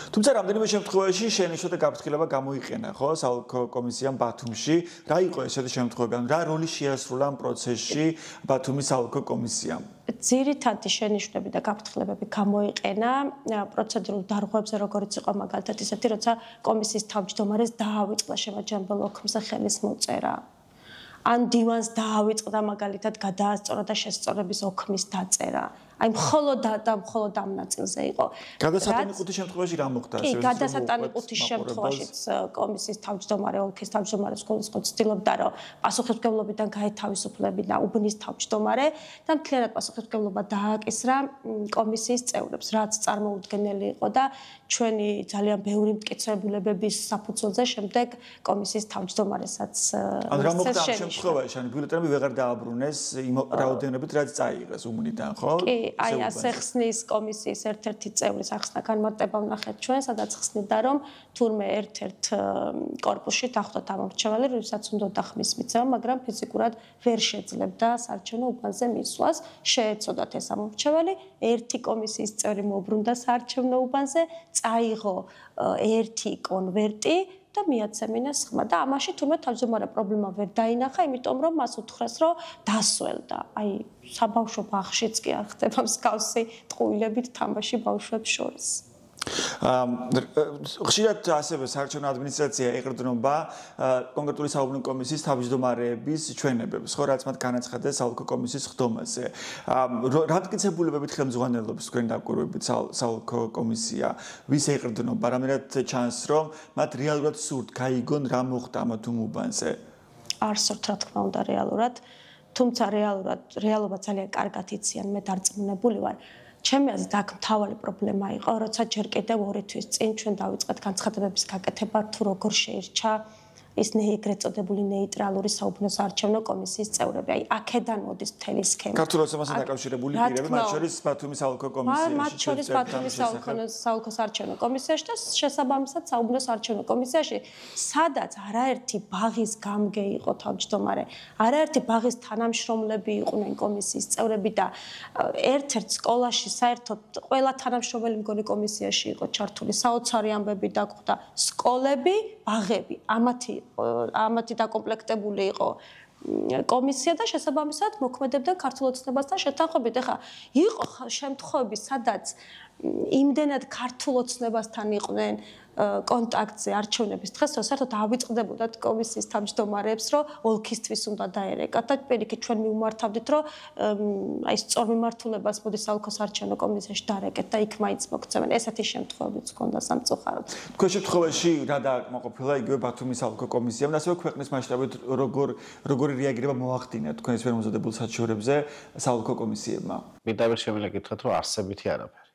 თუმცა რამდენიმე შემთხვევაში შენიშნა და გაფრთხილება გამოიყენა, ხო, საოლქო კომისიამ ბათუმში. რა იყო ესეთი შემთხვევები? რა როლი შეასრულა ამ პროცესში ბათუმის საოლქო კომისიამ? ძირითადი შენიშვნები და გაფრთხილებები გამოიყენა პროცედურულ დარღვევებზე, როგორც იყო მაგალითად ისეთი, როცა კომისიის თავმჯდომარეს დაავიწყდა შემაჯამებელ ოქმზე ხელის მოწერა. ან დივანს დაავიწყდა მაგალითად გადაასწორა და შესწორების ოქმის დაწერა. აი მხოლოდ ამ ნაწილზე იყო. გადასატანიყუთის შემთხვევაში რა მოხდა? კი, გადასატანიყუთის შემთხვევაშიც კომისიის თავმჯდომარე, ოლქის თავმჯდომარე სკოლისკო ცდილობდა, რომ პასუხისმგებლობიდან გაეთავისუფლებინა უბნის თავმჯდომარე და მთლიანად პასუხისმგებლობა დააკისრა კომისიის წევრებს, რაც წარმოუდგენელი იყო და ჩვენი ძალიან ბევრი მტკიცებულებების საფუძველზე შემდეგ კომისიის თავმჯდომარესაც ან რა მოხდა ამ შემთხვევაში? ან ბიულეტენები ვეღარ დააბრუნეს იმ რაოდენობით, რაც წაიღეს უბნიდან, ხო? აი ასე ხსნის კომისიის ერთ-ერთი წევრის ახსნა განმარტება ვნახეთ ჩვენ, სადაც ხსნიდა, რომ თურმე ერთ-ერთ კორპუსში დახვდათ ამორჩეველი, როდესაც უნდა ხმის მიცემა, მაგრამ ფიზიკურად ვერ შეძლებდა საარჩევნო უბანზე მისვლას. შეეცოდათ ეს ამორჩეველი, ერთი კომისიის წევრი მოუბრუნდა საარჩევნო უბანზე, წაიღო ერთი კონვერტი და მიაცემინეს ხმა და ამაში თურმე თავმჯდომარე პრობლემა ვერ დაინახა, იმიტომ რომ მას უთხრეს, რომ დასველდა. აი საბავშვო ბაღშიც კი არ ხდება მსგავსი ტყუილებით თამაში ბავშვებს შორის. ხშირად ასევე საარჩევნო ადმინისტრაცია ეყრდნობა კონკრეტული საუბნო კომისიის თავმჯდომარეების ჩვენებებს, ხო, რაც მათ განაცხადეს საოლქო კომისიის ხდომაზე. რა მტკიცებულებებით ხელმძღვანელობს თქვენ დაკვირვებით საოლქო კომისია, ვის ეყრდნობა, რამენად ჩანს, რომ მათ რეალურად სურთ გაიგონ რა მოხდა ამ უბანზე? არ სურთ, რა თქმა უნდა, რეალურად, თუმცა რეალობა ძალიან კარგად იციან, მე დარწმუნებული ვარ. ჩემი აზრით აქ მთავარი პრობლემა იყო, როცა ჯერ კიდევ 2 თვის წინ ჩვენ დავიწყეთ განცხადებების გაკეთება, თუ როგორ შეირჩა ის ეგრეთ წოდებული ნეიტრალური საუბნო საარჩევნო კომისიის წევრები. აი, აქედან მოდის მთელი სქემა. ქართულ ოცნებასთან დაკავშირებული პირები, მათ შორის ბათუმის საოლქო კომისიაში. მათ შორის ბათუმის საოლქო საარჩევნო კომისიაში და შესაბამისად საუბნო საარჩევნო კომისიაში, სადაც არაერთი ბაღის გამგე იყო თავმჯდომარე, არაერთი ბაღის თანამშრომლები იყვნენ კომისიის წევრები და ერთ-ერთ სკოლაში საერთოდ ყველა თანამშრომელი მგონი კომისიაში იყო ჩართული, საოცარი ამბები დაგვხვდა, სკოლები, ბაღები, ამათი დაკომპლექტებული იყო კომისია და შესაბამისად მოქმედებდა ქართულ ოცნებასთან შეთანხმებით. ეხლა იყო შემთხვევები, სადაც იმდენად ქართულ ოცნებასთან იყვნენ კონტაქტზე არჩევნების დღეს, რომ საერთოდ ავიწყდებოდათ კომისიის თავმჯდომარეებს, რომ ოლქისთვის უნდა დაერეკათ და პირიქით ჩვენ მივმართავდით, რომ აი სწორ მიმართულებას მოდი საოლქო საარჩევნო კომისიაში დარეკეთ და იქ მაინც მოგცემენ. ესეთი შემთხვევებიც ჰქონდა სამწუხაროდ. თქვენ შემთხვევაში რა დააკმაყოფილა იგივე ბათუმის საოლქო კომისიამ და ასევე ქვეყნის მასშტაბით როგორი რეაგირება მოახდინა თქვენს მემზადებულ საჩივრებზე საოლქო კომისიებმა? მიდავერ შემიძლია გითხრათ, რომ არსებითი არაფერი.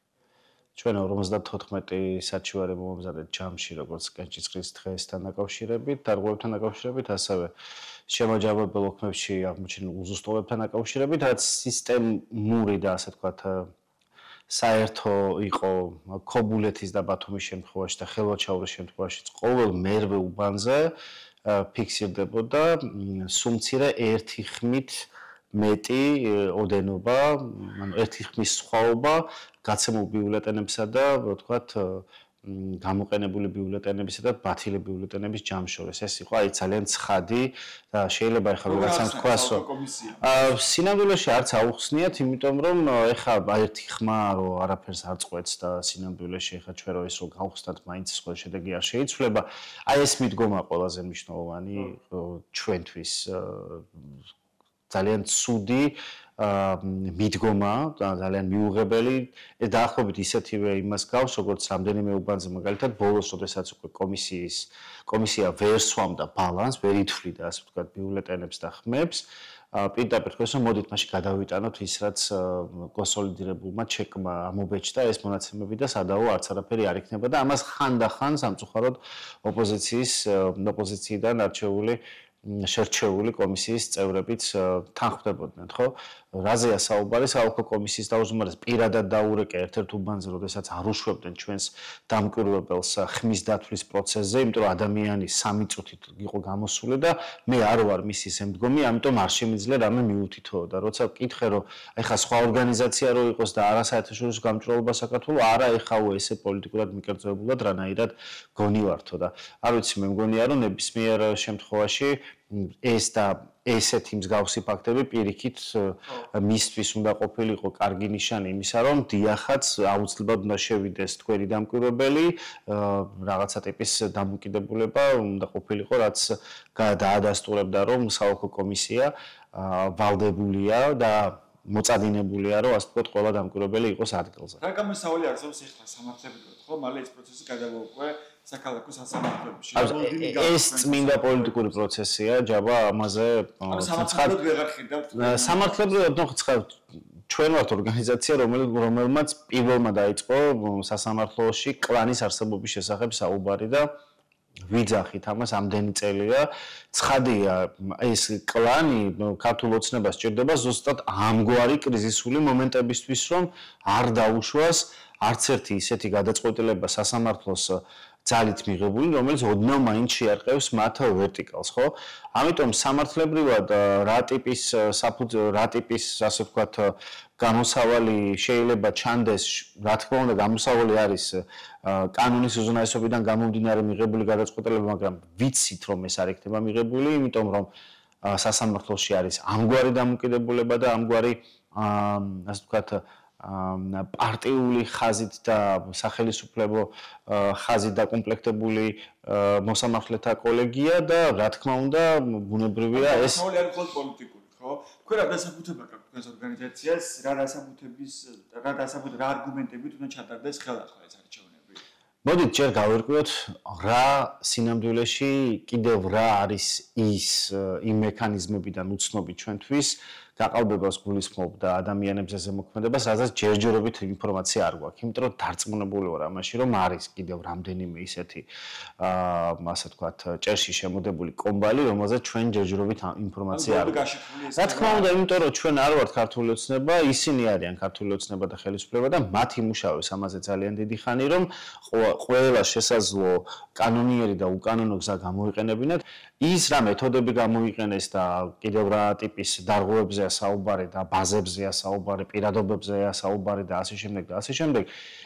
ჩვენ 54 საჩივარი მომზადეთ ჯამში, როგორც კენჭისყრის დღესთან დაკავშირებით, დარღვევებთან დაკავშირებით, ასევე შემაჯამებელ ოქმებში აღმოჩენილ უზუსტობებთან დაკავშირებით, რაც სისტემური და ასე ვთქვათ, საერთო იყო ქობულეთის და ბათუმის შემთხვევაში და ხელვაჩაურის შემთხვევაში ყოველ მერვე უბანზე ფიქსირდებოდა სუმცირე ერთი ხმით მეტი ოდენობა, ანუ ერთი ხმის სხვაობა გაცემულ ბიულეტენებსა და ვთქვათ გამოყენებული ბიულეტენებისა და ბათილი ბიულეტენების ჯამშორის. ეს იყო აი ძალიან ცხადი და შეიძლება ეხლა ვიღაცამ თქვას, რომ სინამდვილეში არც აუხსნიათ, იმიტომ რომ ეხლა ერთი ხმა რომ არაფერს არ წყვეტს და სინამდვილეში ეხლა ჩვენ რო ის რომ გავხსნათ, მაინც სხვა შედეგი არ შეიცვლება. აი ეს მიდგომა ყველაზე მნიშვნელოვანი ჩვენთვის ძალიან ცუდი მიდგომა და ძალიან მიუღებელი დაახლოებით ისეთივე იმას გავს, როგორც რამდენიმე უბანზე მაგალითად ბოლოს, როდესაც უკვე კომისია ვერ სვამდა ბალანს, ვერ ითვლიდა, ასე ვთქვათ, ბიულეტენებს და ხმებს, პირდაპირ თქვენს რომ მოდით მაშინ გადავიტანოთ ის, რაც კონსოლიდირებულმა ჩეკმა ამობეჭდა ეს მონაცემები და სადაო არც არაფერი არ იქნება და ამას ხანდახან სამწუხაროდ ოპოზიციიდან არჩეული შერჩეული კომისიის წევრებიც თანხმდებოდნენ, ხო? რაზეა საუბარი? საოლქო კომისიის დაუზომარეს პირადად დაურეკე ერთ-ერთ უბანზე, როდესაც არ უშვებდნენ ჩვენს დამკვირვებელს ხმის დათვლის პროცესზე, იმიტომ რომ ადამიანი 3 წუთით იყო გამოსული და მე არ ვარ მისი შემდგომი, ამიტომ არ შემიძლია რამე მიუთითო და როცა ვკითხე, რომ ეხა სხვა ორგანიზაცია რო იყოს და არა საერთაშორისო გამჭვირვალობა საქართველოს, არა ეხაო ესე პოლიტიკურად მიკერძოებულად რანაირად გონივართო და არ ვიცი, მე მგონია რომ ნებისმიერ შემთხვევაში ეს და ესეთი მსგავსი ფაქტები პირიქით მისთვის უნდა ყოფილიყო კარგი ნიშანი იმისა, რომ დიახაც აუცილებლად უნდა შევიდეს თქვენი დამკვირვებელი, რაღაცა ტიპის დამოკიდებულება უნდა ყოფილიყო, რაც დაადასტურებდა, რომ საოლქო კომისია ვალდებულია და მოწადინებულია, რომ ასე ვთქვათ, ყველა დამკვირვებელი იყოს ადგილზე. რა გამოსავალი არსებობს ეხლა სამართლებრივად, ხო? მალე ეს პროცესი გადავა უკვე საქალაქო სასამართლოებში. ეს წმინდა პოლიტიკური პროცესია, ჯაბა ამაზე სამართლებრივად ვეღარ ხედავთ. სამართლებრივად ჩვენ ვართ ორგანიზაცია, რომელმაც პირველმა დაიწყო სასამართლოში კლანის არსებობის შესახებ საუბარი და ვიძახით ამას ამდენი წელია. ცხადია, ეს კლანი ქართულ ოცნებას სჭირდება ზუსტად ამგვარი კრიზისული მომენტებისთვის, რომ არ დაუშვას არც ერთი ისეთი გადაწყვეტილება სასამართლოს ძალით მიღებული, რომელიც ოდნავ მაინც შეარყევს მათ ვერტიკალს, ხო? ამიტომ სამართლებრივად რა ტიპის, ასე ვთქვათ, გამოსავალი შეიძლება ჩანდეს, რა თქმა უნდა, გამოსავალი არის კანონის უზენაესობიდან გამომდინარე მიღებული გადაწყვეტილება, მაგრამ ვიცით, რომ ეს არ იქნება მიღებული, იმიტომ რომ სასამართლოში არის ამგვარი დამოკიდებულება და ამგვარი, ასე ვთქვათ, პარტიული ხაზით და სახელისუფლებო ხაზით დაკომპლექტებული მოსამართლეთა კოლეგია და რა თქმა უნდა ბუნებრივია ეს მოსავალი არის მხოლოდ პოლიტიკური, ხო? თქვენ რა დასაბუთება გაქვთ თქვენს ორგანიზაციას, რა არგუმენტებით უნდა ჩატარდეს ხელახლა ეს არჩევნები? მოდით ჯერ გავერკვიოთ რა სინამდვილეში კიდევ რა არის იმ მექანიზმებიდან უცნობი ჩვენთვის გაყალბებას გულისხმობდა ადამიანებზე ზემოქმედებას, სადაც ჯერჯერობით ინფორმაცია არ გვაქვს. იმიტომ რომ დარწმუნებული ვარ ამაში, რომ არის კიდევ რამდენიმე ისეთი ასე ვთქვათ, ჭერში შემოდებული კომბალი, რომელზეც ჩვენ ჯერჯერობით ინფორმაცია არ გვაქვს. რა თქმა უნდა, იმიტომ რომ ჩვენ არ ვართ ქართული ოცნება, ისინი არიან ქართული ოცნება და ხელისუფლება და მათ იმუშავებს ამაზე ძალიან დიდი ხანი, რომ ყველა შესაძლო კანონიერი და უკანონო გზა გამოიყენებინათ. ის რა მეთოდები გამოიყენეს და კიდევ რა ტიპის დარღვევებზეა საუბარი და ბაზებზეა საუბარი, პირადობებზეა საუბარი და ასე შემდეგ და ასე შემდეგ,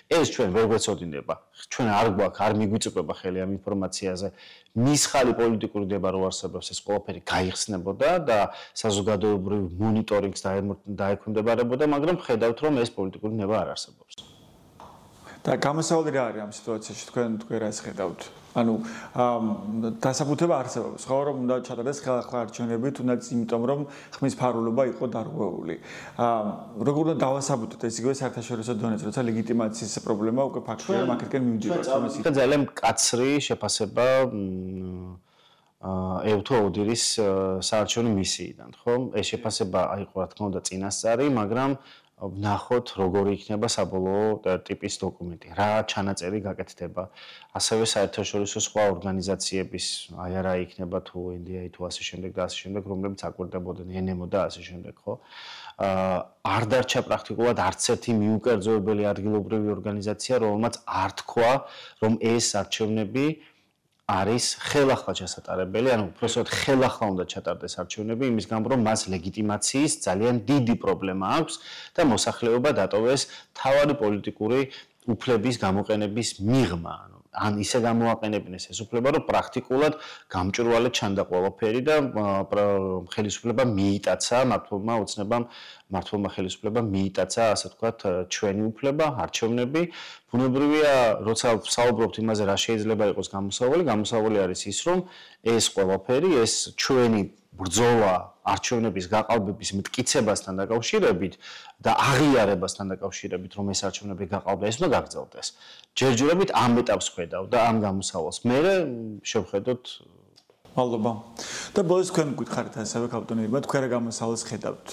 ეს ჩვენ ვერ გვეცოდინება. ჩვენ არ გვაქვს, არ მიგვიწვება ხელი ამ ინფორმაციაზე. მისხალი პოლიტიკური დება რო არსებობს, ეს ყველაფერი გაიხსნებოდა და საზოგადოებრივ მონიტორინგს დაექვემდებარებოდა, მაგრამ ხედავთ, რომ ეს პოლიტიკური ნება არ არსებობს. და გამოსავალი რა არის ამ სიტუაციაში თქვენ რას ხედავთ? ანუ დასაბუთება არსებობს, ხო, რომ უნდა ჩატარდეს ხელახლა არჩევნები, თუნდაც იმიტომ, რომ ხმის ფარულობა იყო დარღვეული. როგორ უნდა დავასაბუთოთ ეს იგივე საერთაშორისო დონეზე, როცა ლეგიტიმაციის პრობლემა უკვე ფაქტია, რომ აქეთკენ მივდივართ. ჩვენ ძალიან მკაცრი შეფასება ევთო ოდირის საარჩევნო მისიიდან, ხო? ეს შეფასება აიყო, რა თქმა უნდა, წინასწარი, მაგრამ ვნახოთ, როგორი იქნება საბოლოო ტიპის დოკუმენტი, რა ჩანაწერი გაკეთდება. ასევე საერთაშორისო სხვა ორგანიზაციების, აი არა იქნება თუ NDI თუ ასე შემდეგ და ასე შემდეგ, რომლებიც აკვირდებოდნენ NMO და ასე შემდეგ, ხო? არ დარჩა პრაქტიკულად არც ერთი მიუკერძოებელი ადგილობრივი ორგანიზაცია, რომელმაც არ თქვა, რომ ეს არჩევნები არის ხელახლა ჩასატარებელი, ანუ უბრალოდ ხელახლა უნდა ჩატარდეს არჩევნები, იმის გამო რომ მას ლეგიტიმაციის ძალიან დიდი პრობლემა აქვს და მოსახლეობა დატოვეს თავარი პოლიტიკური უფლების გამოყენების მიღმა, ან ისე გამოაყენებინეს ეს უფლება, რომ პრაქტიკულად გამჭვირვალედ ჩანდა ყველაფერი და ხელისუფლება მიიტაცა მართლმა ოცნებამ, მართლმა ხელისუფლებამ მიიტაცა, ასე ვთქვათ, ჩვენი უფლება, არჩევნები. ბუნებრივია, როცა საუბრობთ იმაზე, რა შეიძლება იყოს გამოსავალი არის ის, რომ ეს ყველაფერი, ეს ჩვენი ბრძოლა არჩევნების გაყალბების მტკიცებასთან დაკავშირებით და აღიარებასთან დაკავშირებით, რომ ეს არჩევნები გაყალბდა, ეს უნდა გაგრძელდეს. ჯერჯერობით ამ ეტაპს ხედავ და ამ გამოსავალს. მე შევხედოთ. მადლობა. და ბოლოს თქვენ გითხარით ასევე კაპიტანებმა, თქვენ რა გამოსავალს ხედავთ?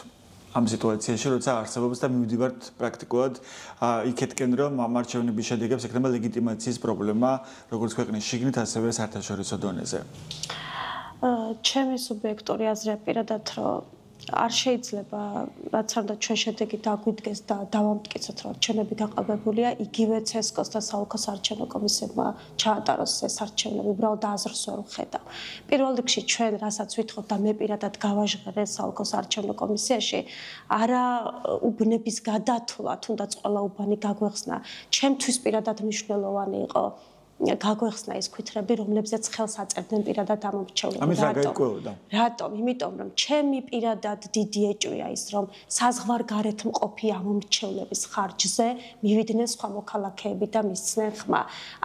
ამ სიტუაციაში, როცა არსებობს და მივდივართ პრაქტიკულად იქეთკენ, რომ ამ არჩევნების შედეგებს ექნება ლეგიტიმაციის პრობლემა, როგორც ქვეყნის შიგნით, ასევე საერთაშორისო დონეზე. ჩემი სუბიექტური აზრია პირადად, რომ არ შეიძლება რაც არ და ჩვენ შედეგი დაგვიდგეს და დავამტკიცოთ, რომ არჩევნები გაყალბებულია, იგივე CSKOS და საოლქოს არჩევნო კომისიებმა ჩაატაროს ეს არჩევნები, უბრალოდ აზრს ვერ ვხედავ. პირველ რიგში ჩვენ რასაც ვითხოვთ და მე პირადად გავაჟღერე საოლქოს არჩევნო კომისიაში, არა უბნების გადათვლა, თუნდაც ყველა უბანი გაგვეხსნა. ჩემთვის პირადად მნიშვნელოვანი იყო გაგვეხსნა ის ქვითრები, რომლებზეც ხელს აწერდნენ პირადად ამ მრჩევლებს. ამის რა გაიკვეოდა? რატომ? იმიტომ რომ ჩემი პირადად დიდი ეჭვია ის, რომ საზღვარგარეთ მყოფი ამ მრჩევლების ხარჯზე მივიდნენ სხვა მოქალაქეები და მისცნენ ხმა.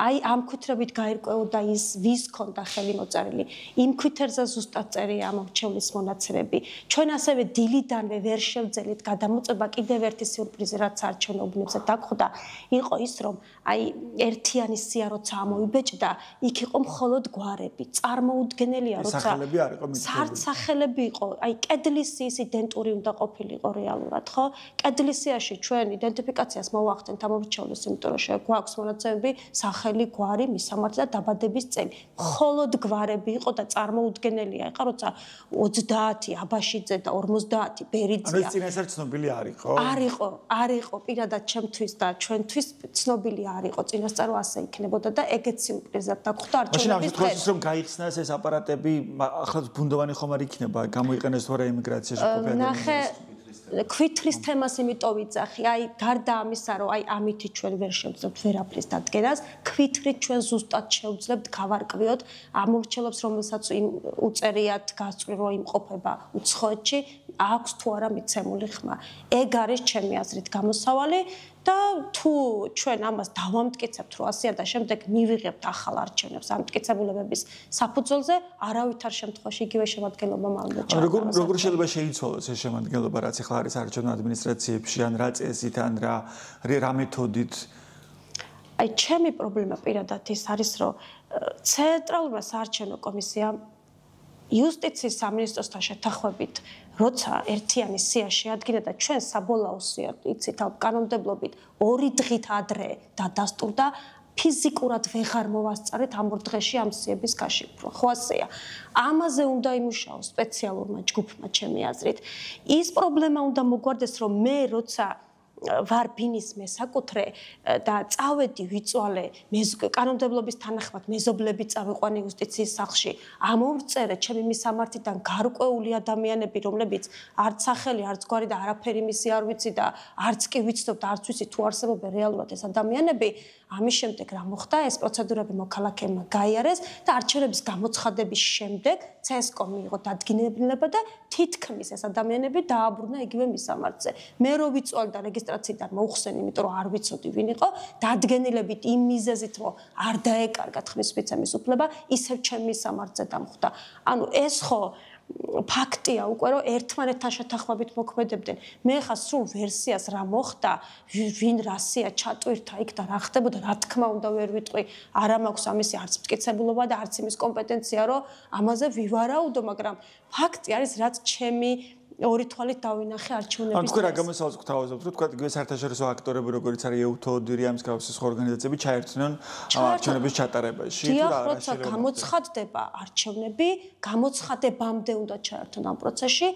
აი ამ ქვითრებით გაირკვეოდა ის, ვის ქონდა ხელი მოწერილი. იმ ქვითერზე ზუსტად წერია ამ მრჩევლის მონაცემები. ჩვენ ასევე დილიდანვე ვერ შევძელით გადამოწება კიდევ ერთი სიურპრიზი, რაც არჩევნო უბნებზე დაგხვდა, იყო ის, რომ აი ერთიანი სია როცა ამოიბეჭდა, იქ იყო მხოლოდ გვარები. წარმოუდგენელია, როცა სახელები არ იყო მითითებული. სახელები იყო, აი კედლის ის იდენტური უნდა ყოფილიყო რეალურად, ხო? კედლის სიაში ჩვენ იდენტიფიკაციას მოვახდენთ ამ მრჩევლის, იმიტომ რომ გვაქვს მონაცემები, სახელი, გვარი, მისამართი და დაბადების წელი. მხოლოდ გვარები იყო და წარმოუდგენელია, ეხა როცა 30 აბაშიძე და 50 ბერიძია. ანუ ეს წინასწარ ცნობილი არ იყო? არ იყო პირადად ჩემთვის და ჩვენთვის ცნობილი არ იყო წინასწარ ასე იქნებოდა და ეგეც სიურპრიზად დაგხვდა არჩევნების დღეს. მაშინ რომ გაიხსნას ეს აპარატები, ახლა ბუნდოვანი ხომ არ იქნება, გამოიყენეს თუ არა ემიგრაციაში ყოფილი ადამიანები. ქვითრის თემას იმიტომ ვიძახი, აი გარდა ამისა, რომ აი ამითი ჩვენ ვერ შევძლებთ ვერაფრის დადგენას, ქვითრით ჩვენ ზუსტად შევძლებთ გავარკვიოთ ამ მრჩევლებს, რომელსაც უწერიათ გასწვრივ იმყოფება უცხოეთში, აქვს თუ არა მიცემული ხმა. ეგ არის ჩემი აზრით გამოსავალი. და თუ ჩვენ ამას დავამტკიცებთ, რომ ასეა და შემდეგ მივიღებთ ახალ არჩევნებს ამ მტკიცებულებების საფუძველზე, არავითარ შემთხვევაში იგივე შემადგენლობა მალე ჩაატაროს. როგორ შეიძლება შეიცვალოს ეს შემადგენლობა, რაც ახლა არის არჩევნო ადმინისტრაციებში, ან რა წესით, ან რა მეთოდით? აი, ჩემი პრობლემა პირადად ის არის, რომ ცენტრალურმა საარჩევნო კომისიამ იუსტიციის სამინისტროსთან შეთანხმებით, როცა ერთიანი სია შეადგინა და ჩვენ საბოლოო სია იცით, კანონმდებლობით 2 დღით ადრე დადასტურდა, ფიზიკურად ვეღარ მოვასწარეთ ამ 2 დღეში ამ სიების გაშიფრო. ხო ასეა. ამაზე უნდა იმუშაოს სპეციალურმა ჯგუფმა, ჩემი აზრით. ის პრობლემა უნდა მოგვარდეს, რომ მე როცა ვარ ბინის მესაკუთრე და წავედი ვიწვალე კანონმდებლობის თანახმად მეზობლები წავიყვანი იუსტიციის სახლში, ამოვწერე ჩემი მისამართიდან გარკვეული ადამიანები, რომლებიც არც სახელი, არც გვარი და არაფერი მისი არ ვიცი და არც კი ვიცნობ და არც ვიცი თუ არსებობენ რეალურად ეს ადამიანები, ამის შემდეგ რა მოხდა? ეს პროცედურები მოქალაქეებმა გაიარეს და არჩევნების გამოცხადების შემდეგ CSCOM მიიღო დადგენილება და თითქმის ეს ადამიანები დააბრუნა იგივე მისამართზე. მე რო ვიწვალე და რეგისტრაციიდან მოუხსენი, იმიტომ რომ არ ვიცოდი ვინ იყო, დადგენილებით იმ მიზეზით, რომ არ დაეკარგა ხმის მიცემის უფლება, ისევ ჩემ მისამართზე დამხვდა. ანუ ეს ხო ფაქტია უკვე რომ ერთმანეთთან შეთანხმებით მოქმედებდნენ. მე ხა სულ ვერსიას რა მოხდა, ვინ რასია ჩატვირთა იქ და რა ხდებოდა, რა თქმა უნდა ვერ ვიტყვი, არა მაქვს ამისი არც მტკიცებულობა და არც იმის კომპეტენცია, რომ ამაზე ვივარაუდო, მაგრამ ფაქტი არის, რაც ჩემი ორი თვალით დავინახე არჩევნების. ანუ რა გამოსავალს გვთავაზობთ, რომ თქვა იგივე საერთაშორისო აქტორები, როგორც არის EUTODIR ამ მსგავსი სხვა ორგანიზაციები ჩაერთვნენ არჩევნების ჩატარებაში. დიახ, როცა გამოცხადდება არჩევნები, გამოცხადებამდე უნდა ჩაერთონ ამ პროცესში.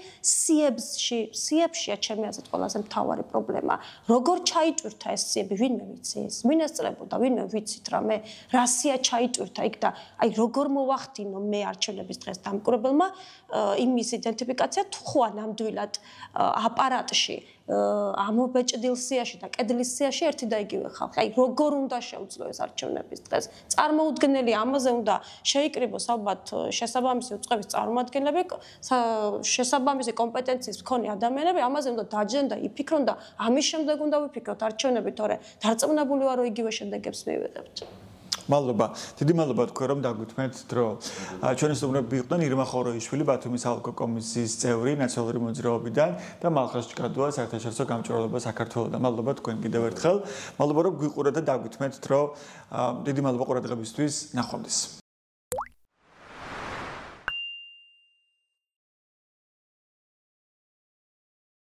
სიებშია ჩემი აზრით ყველაზე მთავარი პრობლემა. როგორ ჩაიტვირთა ეს სიები, ვინმე ვიცის? ვინ ესწრებოდა, ვინმე ვიცით რამე, რა სია ჩაიტვირთა იქ და აი როგორ მოვახდინო მე არჩევნების დღეს დამკვირვებელმა იმის იდენტიფიკაცია თუ ხო ნამდვილად აპარატში ამობეჭდილ სიაში და კედლის სიაში ერთი და იგივე ხალხი. აი როგორ უნდა შეუძლო ეს არჩევნების დღეს? წარმოუდგენელი ამაზე უნდა შეიკრიბოს ალბათ შესაბამისი უწყების წარმომადგენლები, შესაბამისი კომპეტენციის მქონე ადამიანები, ამაზე უნდა დაჯდენ და იფიქრონ და ამის შემდეგ უნდა ვიფიქროთ არჩევნები, თორე დარწმუნებული ვარ, რომ იგივე შედეგებს მივიღებთ. მადლობა. დიდი მადლობა თქვენ რომ დაგვითმეთ დრო. ჩვენი სტუმრები იყვნენ ირმა ხოროიშვილი, ბათუმის ალკო კომისიის წევრი ნაციონალური მოძრაობიდან და მალხაზ ჭკადუა საერთაშორისო გამჭვირვალობა საქართველოსთან. მადლობა თქვენ კიდევ ერთხელ. მადლობა რომ გვიყურეთ და დაგვითმეთ დრო. დიდი მადლობა ყურადღებისთვის. ნახვამდის.